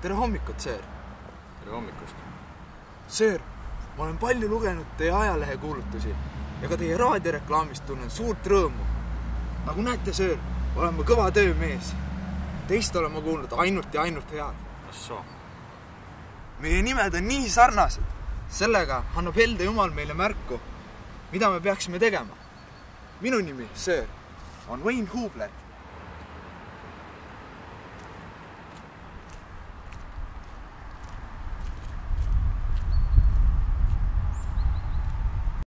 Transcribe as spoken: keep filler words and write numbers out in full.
tere hommikut, Söör! Tere hommikust! Söör, ma olen palju lugenud teie ajalehe kuulutusi ja ka teie raadioreklaamist tunnen suurt rõõmu. Nagu näete, Söör, olen ma kõva töömees. Teist olen ma kuulnud ainult ja ainult head. Assoo. Meie nimed on nii sarnased. Sellega annab helde Jumal meile märku, mida me peaksime tegema. Minu nimi, Söör, on Wayne Hubler.